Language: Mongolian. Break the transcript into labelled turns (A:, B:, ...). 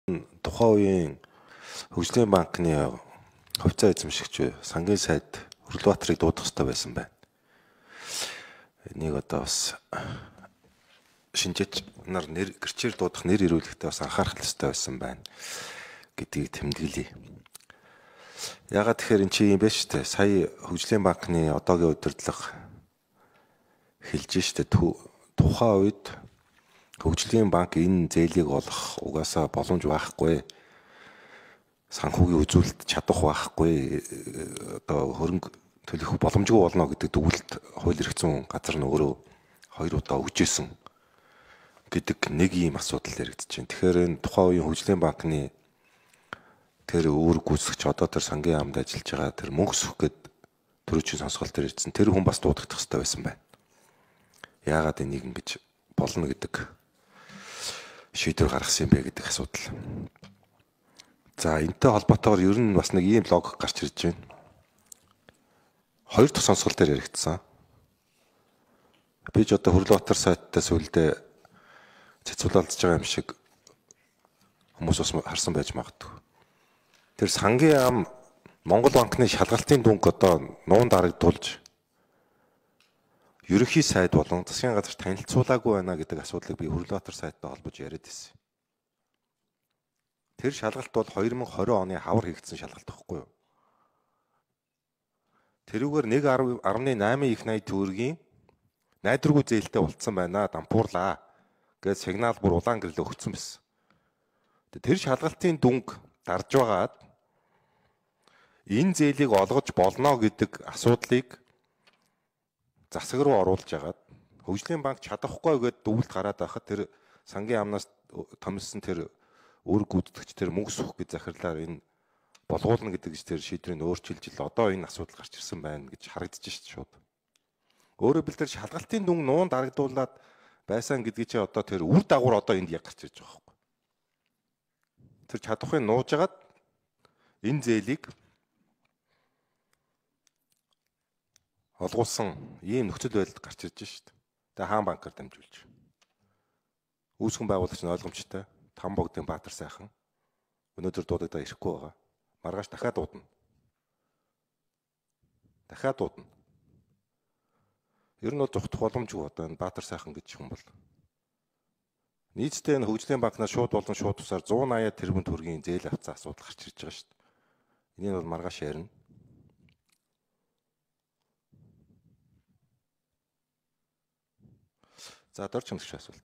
A: Тухайн үеийн Хөгжлийн банкны хувьцаа эзэмшигч сангийн сайд Өрлөбаатарыг дуудах хэрэгтэй байсан байна. Энийг одоо бас шинжээч нар гэрчээр дуудах нэр ирүүлэхдээ бас анхаарах хэрэгтэй байсан байна гэдгийг тэмдэглэе. Ягаад тэгэхээр эн чинь юм бэ штэ. Сая Хөгжлийн банкны одоогийн удирдлага хэлж штэ тухайн үед Хөгжлийн банк энэ зээлийг олох угаасаа боломж байхгүй. Санхүүгийн үзүүлэлт чадах байхгүй. Одоо хөрөнгө төлөх боломжгүй болно гэдэг дүгнэлт хууль эрх зүйн газар нь өөрөө 2 удаа өгчээсэн гэдэг нэг ийм асуудал яригдж байна. Тэгэхээр энэ тухайн үеийн Хөгжлийн банкны тэр үүрэг гүйцэтгэгч одоо тэр сангийн яамд ажиллаж байгаа тэр мөнгө өсөх гээд төрөчийн сонсголт дээр ирсэн. Тэр хүн бас дуудагдах хэрэгтэй байсан байна. Яагаад энийг ингэж болно гэдэг шийдвэр гаргасан юм бэ гэдэг асуудал. За энэтэй холбоотойгоор ер нь бас нэг ийм логик гарч ирж байна. 2 дахь сонсголт дээр яригдсан. Би ч одоо Өрлөбаатар сайтаас үлдээ цэцүүлэлдэж байгаа юм шиг хүмүүс бас харсан байж магадгүй. Тэр сангийн яам Монгол банкны шалгалтын дүнг одоо нуун дарагдуулж ерөнхий сайд болон засгийн газар танилцуулаагүй байна гэдэг асуудлыг би Өрлөбаатар сайттай холбож яриад байсан. Тэр шалгалт бол 2020 оны хавар хийгдсэн шалгалт байхгүй юу? Тэрүүгээр 1.8 их 80 төгрөгийн найдваргүй зээлтэй болцсон байна. Дампуурлаа гэж сигнал бүр улаан гэрлээ өгсөн байсан. Тэр шалгалтын дүнг дарж байгаад энэ зээлийг олгож болно гэдэг асуудлыг засаг руу оруулж агаад Хөгжлийн банк чадахгүй гэдээ дүгнэлт гараад байхад тэр сангийн яамнаас томилсон тэр үүрэг гүйцэтгэгч тэр мөнгө өсөх гэж захирлаар энэ болгуулна гэдэг тэр шийдвэрийг өөрчилж ил одоо энэ асуудал гарч ирсэн байна гэж харагдаж шít шууд. Өөрөөр хэлбэл тэр шалгалтын дүнг нуун дарагдуулаад байсан гэдгийг чи одоо тэр үр дагавар одоо энд яг гарч ирж байгаа байхгүй. Тэр чадахыг нууж агаад энэ зээлийг олгуулсан ийм нөхцөл байдал гарч ирж шít. Тэгээ хаан банкар дамжуулж. Үүсгэн байгуулагч нь ойлгомжтой. Там богдын Баатар сайхан өнөөдөр дуудагдаа ирэхгүй байгаа. Маргааш дахиад дуудана. Ер нь бол зүхтах боломжгүй одоо энэ Баатар сайхан гэж хүн бол. Нийтдээ энэ Хөгжлийн банкнаас шууд болон шууд тусаар 180 тэрбум төгрөгийн зээл авцсан асуудал гарч ирж байгаа шүү дээ. Энийг бол маргааш ярина. За дорч хэмжих асуулт.